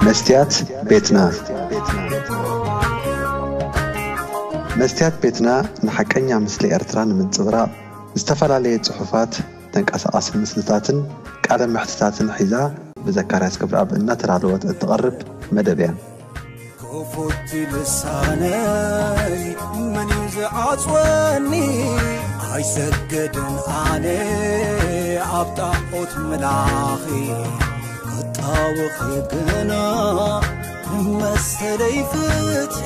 መስትያት ቤትና። መስትያት ቤትና ንሓቀኛ ምስሊ ኤርትራ ንምንጽብራቕ ዝተፈላለየ ጽሑፋት፣ ተንቀሳቓሲ ምስልታትን ቃለ መሕትታትን ሒዛ ብዘካርያስ ገብረኣብ እናተዳለወት እትቐርብ መደብ እያ። ክፉት ልሳነይ መን እዩ ዝዓጽወኒ? ኣይሰግድን ኣነ ኣብ ጣዖት ምላኺ፣ ክጣወኺ ግና መሰለይ ፍትሒ።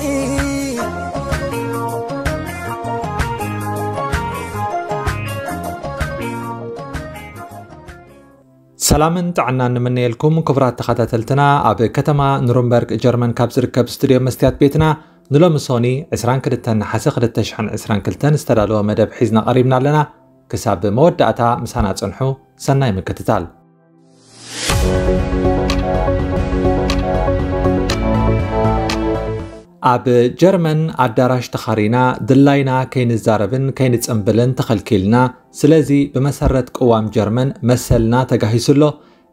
ሰላምን ጥዕናን ንምነየልኩም ክቡራት ተኸታተልትና። ኣብ ከተማ ኑርንበርግ ጀርመን ካብ ዝርከብ ስቱድዮ መስትያት ቤትና ንሎሚ ሶኒ ዕስራን ክልተን ነሓሰ ክልተ ሽሕን ዕስራን ክልተን ዝተዳለወ መደብ ሒዝና ቀሪብና ኣለና። ክሳብ መወዳእታ ምሳና ጽንሑ። ሰናይ ምክትታል። ኣብ ጀርመን ኣዳራሽ ተኻሪና ድላይና ከይንዛረብን ከይንጽንብልን ተኸልኪልና። ስለዚ ብመሰረት ቅዋም ጀርመን መሰልና ተጋሂሱ ኣሎ።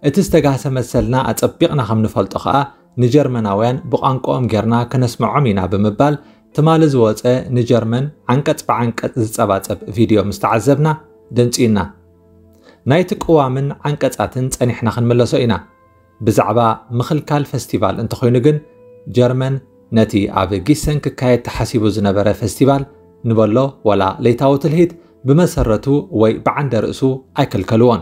እቲ ዝተጋህሰ መሰልና ኣጸቢቕና ከም ንፈልጦ ኸኣ ንጀርመናውያን ብቋንቋኦም ጌርና ከነስምዖም ኢና ብምባል ትማሊ ዝወጸ ንጀርመን ዓንቀጽ ብዓንቀጽ ዝጸባጸብ ቪድዮ ምስ ተዓዘብና ደንጽዩና። ናይቲ ቅዋምን ዓንቀጻትን ጸኒሕና ክንምለሶ ኢና። ብዛዕባ ምኽልካል ፈስቲቫል እንተኾይኑ ግን ጀርመን ነቲ ኣብ ጊሰን ክካየድ ተሓሲቡ ዝነበረ ፈስቲቫል ንበሎ ዋላ ለይታዊ ትልሂት ብመሰረቱ ወይ ብዓንደ ርእሱ ኣይከልከልዎን።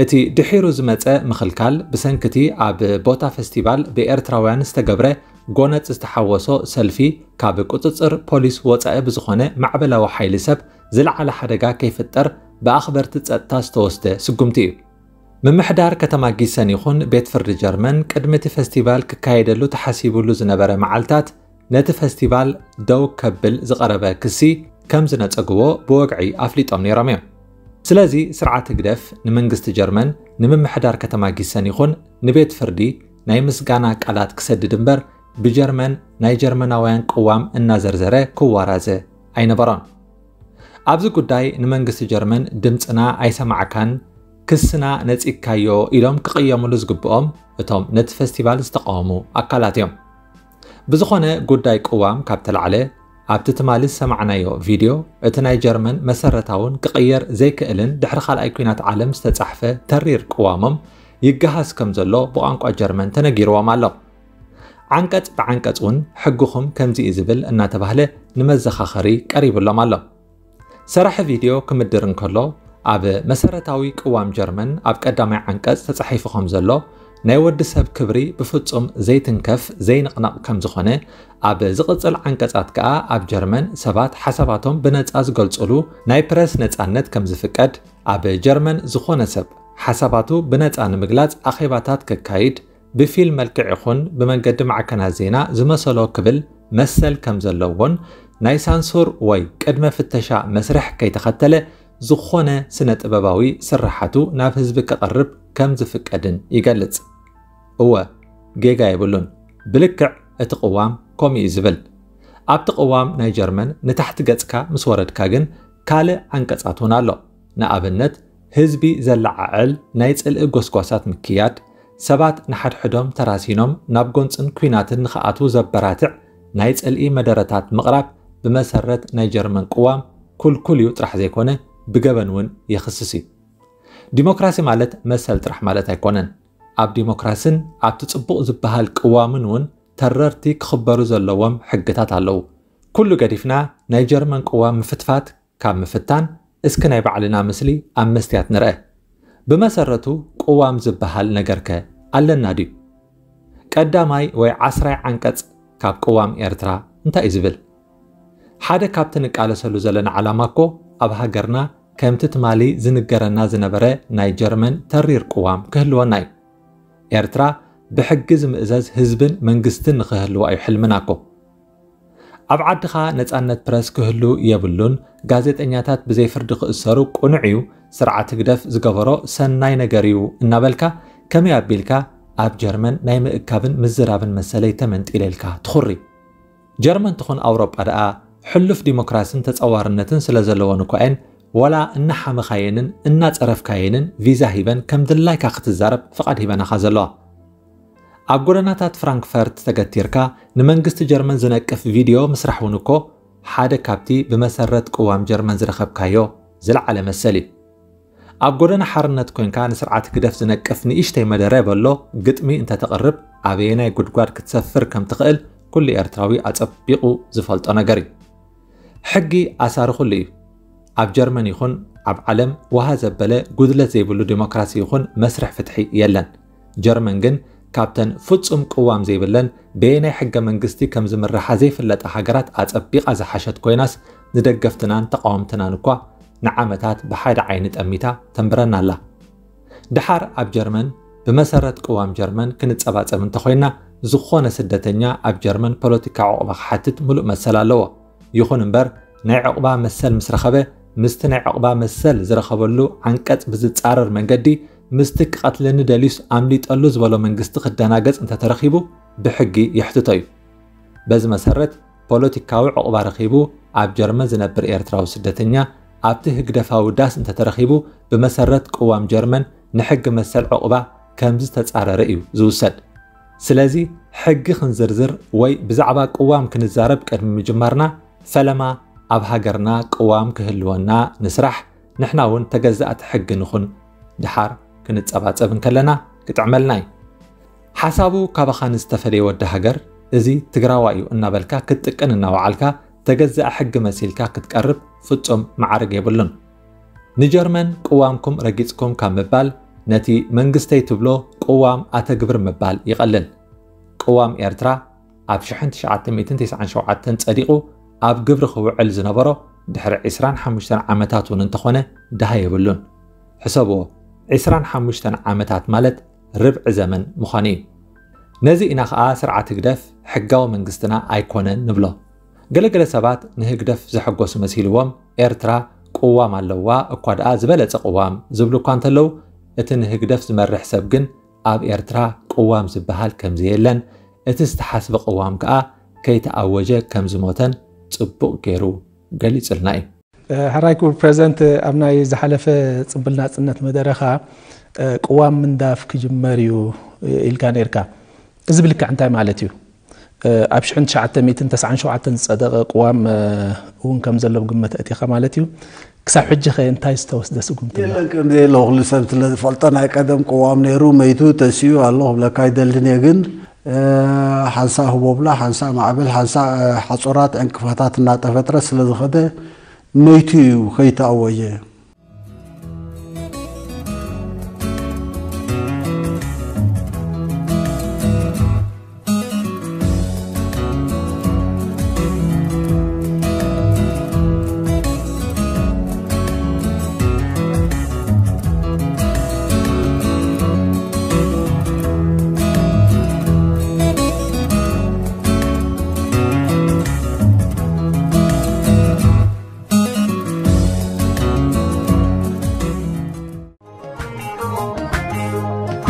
እቲ ድሒሩ ዝመጸ ምኽልካል ብሰንክቲ ኣብ ቦታ ፈስቲቫል ብኤርትራውያን ዝተገብረ ጎነጽ ዝተሓወሶ ሰልፊ ካብ ቁጽጽር ፖሊስ ወጻኢ ብዝኾነ ማዕበላዊ ሓይሊ ሰብ ዝለዓለ ሓደጋ ከይፍጠር ብኣኽበርቲ ጸጥታ ዝተወስደ ስጉምቲ እዩ። ምምሕዳር ከተማ ጊሰን ይኹን ቤት ፍርዲ ጀርመን ቅድሚ እቲ ፈስቲቫል ክካየደሉ ተሓሲቡሉ ዝነበረ መዓልታት ነቲ ፈስቲቫል ደው ከብል ዝቐረበ ክሲ ከም ዝነጸግዎ ብወግዒ ኣፍሊጦም ነይሮም እዮም። ስለዚ ስርዓት ህግደፍ ንመንግስቲ ጀርመን ንምምሕዳር ከተማ ጊሰን ይኹን ንቤት ፍርዲ ናይ ምስጋና ቃላት ክሰድድ እምበር ብጀርመን ናይ ጀርመናውያን ቅዋም እናዘርዘረ ክዋራዘ ኣይነበሮን። ኣብዚ ጉዳይ ንመንግስቲ ጀርመን ድምፅና ኣይሰማዕካን፣ ክስና ነፂግካዮ ኢሎም ክቕየምሉ ዝግብኦም እቶም ነቲ ፈስቲቫል ዝተቃወሙ ኣካላት እዮም። ብዝኾነ ጉዳይ ቅዋም ካብ ተላዕለ ኣብቲ ትማሊ ዝሰማዕናዮ ቪድዮ እቲ ናይ ጀርመን መሰረታውን ክቕየር ዘይክእልን ድሕሪ ካልኣይ ኲናት ዓለም ዝተጻሕፈ ተሪር ቅዋሞም ይገሃስ ከም ዘሎ ብቋንቋ ጀርመን ተነጊርዎም ኣሎ። ዓንቀጽ ብዓንቀጽ እውን ሕግኹም ከምዚ እዩ ዝብል እናተባህለ ንመዘኻኸሪ ቀሪብሎም ኣሎ። ሰራሒ ቪድዮ ክምድር እንከሎ ኣብ መሰረታዊ ቅዋም ጀርመን ኣብ ቀዳማይ ዓንቀጽ ተጻሒፉ ከም ዘሎ ናይ ወዲ ሰብ ክብሪ ብፍጹም ዘይትንከፍ ዘይንቕነቕ ከም ዝኾነ ኣብ ዝቕጽል ዓንቀጻት ከኣ ኣብ ጀርመን ሰባት ሓሳባቶም ብነጻ ዝገልጹሉ ናይ ፕረስ ነጻነት ከም ዝፍቀድ ኣብ ጀርመን ዝኾነ ሰብ ሓሳባቱ ብነጻ ንምግላጽ ኣኼባታት ከካይድ ብፊልም መልክዕ ይኹን ብመንገዲ ማዕከናት ዜና ዝመሰሎ ክብል መሰል ከም ዘለዎን ናይ ሳንሱር ወይ ቅድመ ፍተሻ መስርሕ ከይተኸተለ ዝኾነ ስነ ጥበባዊ ስርሓቱ ናብ ህዝቢ ከቕርብ ከም ዝፍቀድን ይገልጽ። እወ፣ ጌጋ የብሉን። ብልክዕ እቲ ቅዋም ከምኡ እዩ ዝብል። ኣብቲ ቅዋም ናይ ጀርመን ንታሕቲ ገጽካ ምስ ወረድካ ግን ካልእ ዓንቀጻት እውን ኣሎ። ንኣብነት ህዝቢ ዘለዓዕል ናይ ጽልኢ ጎስጓሳት ምክያድ፣ ሰባት ንሓድሕዶም ተራሲኖም ናብ ጎንጽን ኲናትን ንኽኣትዉ ዘበራትዕ ናይ ጽልኢ መደረታት ምቕራብ ብመሰረት ናይ ጀርመን ቅዋም ኩልኩል እዩ ጥራሕ ዘይኮነ ብገበን እውን የኽስስ እዩ። ዲሞክራሲ ማለት መሰል ጥራሕ ማለት ኣይኮነን። ኣብ ዲሞክራስን ኣብቲ ጽቡቕ ዝበሃል ቅዋምን እውን ተረርቲ ክኽበሩ ዘለዎም ሕግታት ኣለዉ። ኩሉ ገዲፍና ናይ ጀርመን ቅዋም ምፍትፋት ካብ ምፍታን እስኪ ናይ ባዕልና ምስሊ ኣብ መስትያት ንርአ። ብመሰረቱ ቅዋም ዝበሃል ነገርከ ኣለና ድዩ? ቀዳማይ ወይ ዓስራይ ዓንቀጽ ካብ ቅዋም ኤርትራ እንታይ እዩ ዝብል? ሓደ ካብቲ ንቃለሰሉ ዘለና ዓላማ እኮ ኣብ ሃገርና ከምቲ ትማሊ ዝንገረና ዝነበረ ናይ ጀርመን ተሪር ቅዋም ክህልወና እዩ። ኤርትራ ብሕጊ ዝምእዘዝ ህዝብን መንግስትን ንኽህልዋ እዩ ሕልምና እኮ። ኣብ ዓድኻ ነጻነት ፕረስ ክህሉ የብሉን፣ ጋዜጠኛታት ብዘይ ፍርዲ ክእሰሩ ቅኑዕ እዩ፣ ስርዓት ህግደፍ ዝገበሮ ሰናይ ነገር እዩ እናበልካ ከመይ ኣቢልካ ኣብ ጀርመን ናይ ምእካብን ምዝራብን መሰለይ ተመንጢለ ኢልካ ትኹሪ? ጀርመን ትኹን ኣውሮጳ ደኣ ሕሉፍ ዲሞክራስን ተጸዋርነትን ስለ ዘለወን እኳ እየን ዋላ እናሓመኻየንን እናጸረፍካየንን ቪዛ ሂበን ከም ድላይካ ክትዛረብ ፍቓድ ሂበናኻ ዘለዋ። ኣብ ጎደናታት ፍራንክፈርት ተገቲርካ ንመንግስቲ ጀርመን ዝነቅፍ ቪድዮ ምስራሕ እውን እኮ ሓደ ካብቲ ብመሰረት ቅዋም ጀርመን ዝረኸብካዮ ዝለዓለ መሰል እዩ። ኣብ ጎደና ሓርነት ኮንካ ንስርዓት ህግደፍ ዝነቅፍ ንእሽተይ መደረ በሎ ግጥሚ እንተተቕርብ ኣበየናይ ጉድጓድ ክትሰፍር ከም ትኽእል ኩሉ ኤርትራዊ ኣጸቢቑ ዝፈልጦ ነገር እዩ። ሕጊ ኣሳሪ ኩሉ እዩ። ኣብ ጀርመን ይኹን ኣብ ዓለም ውሃ ዘበለ ጉድለት ዘይብሉ ዲሞክራሲ ይኹን መስርሕ ፍትሒ የለን። ጀርመን ግን ካብተን ፍጹም ቅዋም ዘይብለን በየናይ ሕገ መንግስቲ ከም ዝምርሓ ዘይፍለጣ ሃገራት ኣጸቢቓ ዝሓሸት ኮይናስ ንደገፍትናን ተቓወምትናን እኳ ንዓመታት ብሓደ ዓይኒ ጠሚታ ተንብረና ኣላ። ደሓር ኣብ ጀርመን ብመሰረት ቅዋም ጀርመን ክንጸባጸብ እንተኾይና ዝኾነ ስደተኛ ኣብ ጀርመን ፖለቲካ ዕቑባ ክሓትት ምሉእ መሰል ኣለዎ። ይኹን እምበር ናይ ዕቑባ መሰል ምስ ረኸበ ምስቲ ናይ ዕቑባ መሰል ዝረኸበሉ ዓንቀጽ ብዝጻረር መንገዲ ምስቲ ክቐትለኒ ደልዩስ ኣምሊጠሉ ዝበሎ መንግስቲ ክደናገጽ እንተተረኺቡ ብሕጊ የሕትቶ እዩ። በዚ መሰረት ፖለቲካዊ ዕቑባ ረኺቡ ኣብ ጀርመን ዝነብር ኤርትራዊ ስደተኛ ኣብቲ ህግደፋዊ ዳስ እንተተረኺቡ ብመሰረት ቅዋም ጀርመን ንሕጊ መሰል ዕቑባ ከም ዝተጻረረ እዩ ዝውሰድ። ስለዚ ሕጊ ክንዝርዝር ወይ ብዛዕባ ቅዋም ክንዛረብ ቅድሚ ምጅማርና ፈለማ ኣብ ሃገርና ቅዋም ክህልወና ንስራሕ፣ ንሕና እውን ተገዛእቲ ሕጊ ንኹን። ደሓር ክንጸባጸብ እንከለና ክጥዕመልና እዩ። ሓሳቡ ካባኻ ንዝተፈለየ ወዲ ሃገር እዚ ትግራዋይ እዩ እናበልካ ክትጥቅን እናወዓልካ ተገዛእ ሕጊ መሲልካ ክትቀርብ ፍጹም መዓርግ የብሉን። ንጀርመን ቅዋምኩም ረጊጽኩም ካብ ምባል ነቲ መንግስተይ ትብሎ ቅዋም ኣተግብር ምባል ይቐልል። ቅዋም ኤርትራ ኣብ ሽሕን ትሽዓተ ሚእትን ተስዓን ሸውዓተን ጸዲቑ ኣብ ግብሪ ክውዕል ዝነበሮ ድሕሪ ዕስራን ሓሙሽተን ዓመታት እውን እንተኾነ ደሃ የብሉን። ሕሰብዎ፣ ዕስራን ሓሙሽተን ዓመታት ማለት ርብዒ ዘመን ምዃኑ እዩ። ነዚ ኢና ኸኣ ስርዓት ህግደፍ ሕጋዊ መንግስትና ኣይኮነን ንብሎ። ገለገለ ሰባት ንህግደፍ ዘሐጎሱ መሲልዎም ኤርትራ ቅዋም ኣለዋ እኳ ደኣ ዝበለጸ ቅዋም ዝብሉ እኳ እንተለዉ እቲ ንህግደፍ ዝመርሕ ሰብ ግን ኣብ ኤርትራ ቅዋም ዝበሃል ከም ዘየለን እቲ ዝተሓስበ ቅዋም ከኣ ከይተኣወጀ ከም ዝሞተን ጽቡቕ ገይሩ ገሊጹልና እዩ። ሕራይ ክቡር ፕሬዚደንት፣ ኣብ ናይ ዝሓለፈ ጽምብል ናጽነት መደረኻ ቅዋም ምንዳፍ ክጅመር እዩ ኢልካ ነርካ። እዚ ብልክዕ እንታይ ማለት እዩ? ኣብ ሽሕን ትሽዓተ ሚእትን ተስዓን ሸውዓተን ዝጸደቐ ቅዋም እውን ከም ዘሎ ብግምት ኣእቲኻ ማለት እዩ። ክሳብ ሕጂ ኸ እንታይ ዝተወስደ ስጉምቲ ኣሎ? የለን፣ ከም ዘየለ ኩሉ ሰብ ስለ ዝፈልጦ ናይ ቀደም ቅዋም ነይሩ፣ መይቱ፣ ተሲኡ ኣሎ ክብለካ ኣይደልን እየ። ግን ሓንሳእ ህቦብላ፣ ሓንሳእ ማዕበል፣ ሓንሳእ ሓጹራት ዕንቅፋታት እናተፈጥረ ስለ ዝኸደ መይቱ እዩ ከይተኣወጀ።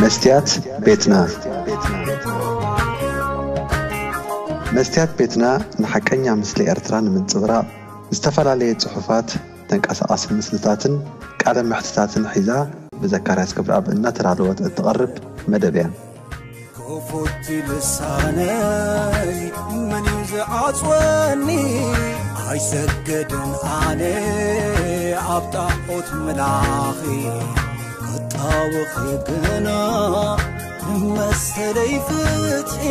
መስትያት ቤትና። መስትያት ቤትና ንሓቀኛ ምስሊ ኤርትራ ንምንጽብራቕ፣ ዝተፈላለየ ጽሑፋት፣ ተንቀሳቓሲ ምስልታትን ቃለ መሕትታትን ሒዛ ብዘካርያስ ክብረኣብ እናተዳለወት እትቐርብ መደብ እያ። ክፉት ልሳነይ መን እዩ ዝዓጽወኒ? ኣይሰገድን ኣነ ኣብ ጣዖት ምላኺ፣ ክጣወኺ ግና ንመሰለይ ፍትሒ።